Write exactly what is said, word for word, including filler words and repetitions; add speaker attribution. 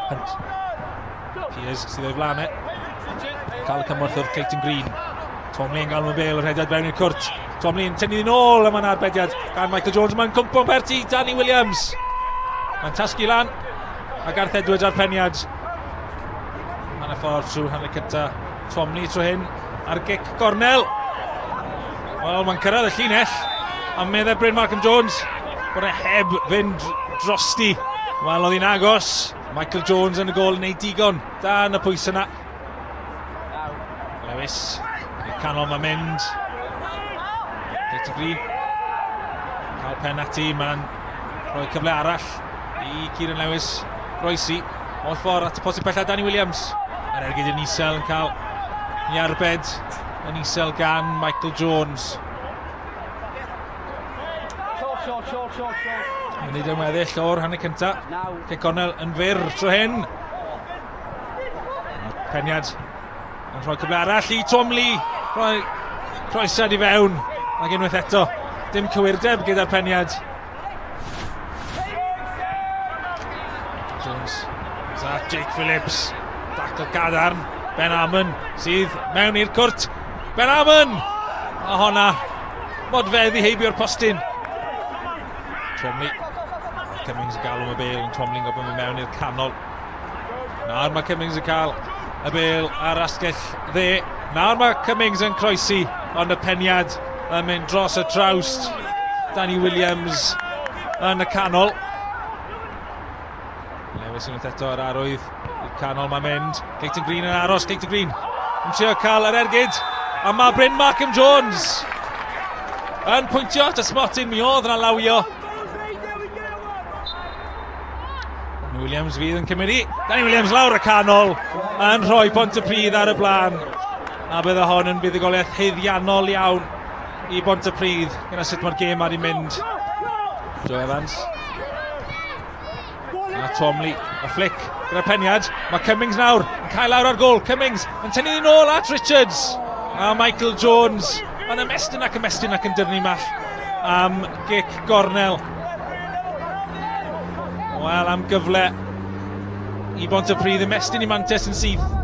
Speaker 1: Hunt. Pears sydd o'i flaen e. Cael y cymorth o'r Clayton Green. Twomley yn gael y bel, y rhediad fewn i'r cwrt. Twomley yn tynnu nôl, a mae'n arbediad gan Michael Jones. Mae'n cwmpo'n bert i Danny Williams. Mae'n tasgu lan, a Gareth Edwards ar peniad. Mae'n y ffordd trwy hanner cynta. Twomley tro hyn ar gic gornel. Wel, mae'n cyrraedd y llinell, a meddai Bryn Malcolm Jones bod e heb fynd drosti. Wel, oedd hi'n agos. Michael Jones yn y gôl yn neud digon dan y pwys yna. Lewis, i'r canol mae'n mynd. Clayton Green. Cael pen ati, mae'n rhoi cyfle arall i Kieran Lewis groesi. O'r ffordd at y posib pellaf Danny Williams. Yr ergyd yn isel yn cael i arbed yn isel gan Michael Jones. Munud yn weddill o'r hanner cynta. Cic cornel yn fyr tro hyn. Peniad yn rhoi cyfle arall i Twomley. Rhoi croesiad i fewn. Ac unwaith eto, dim cywirdeb gyda'r peniad. Jones. A Jake Phillips. Dacl gadarn. Ben Amon sydd mewn i'r cwrt. Ben Amon! A honna, modfedd i heibio'r postyn. Twomley. Cummings yn galw am y bel, ond Twomley'n gofyn mynd mewn i'r canol. Nawr mae Cummings yn cael y bel ar asgell dde. Nawr mae Cummings yn croesi, ond y peniad yn mynd dros y trawst. Danny Williams yn y canol. Lewis unwaith eto ar arwydd i'r canol mae'n mynd. Clayton Green yn aros, Clayton Green yn trio cael yr ergyd. A mae Bryn Malcolm Jones yn pwyntio at y smotyn, mi oedd yna lawio. Danny Williams fydd yn cymryd i. Danny Williams lawr y canol yn rhoi Pontypridd ar y blaen. A bydde hon yn fuddugoliaeth haeddiannol iawn i Bontypridd gyda sut mae'r gêm ar ei mynd. Joe Evans. A Twomley, y flick gyda'r peniad. Mae Cummings nawr yn cael lawr ar gôl. Cummings yn tynnu nôl at Richards. A Michael Jones yn ymestyn ac ymestyn ac yn dyrnu mall am gic gornel. Wel, am gyfle i Bontypridd ymestyn i mantes yn syth.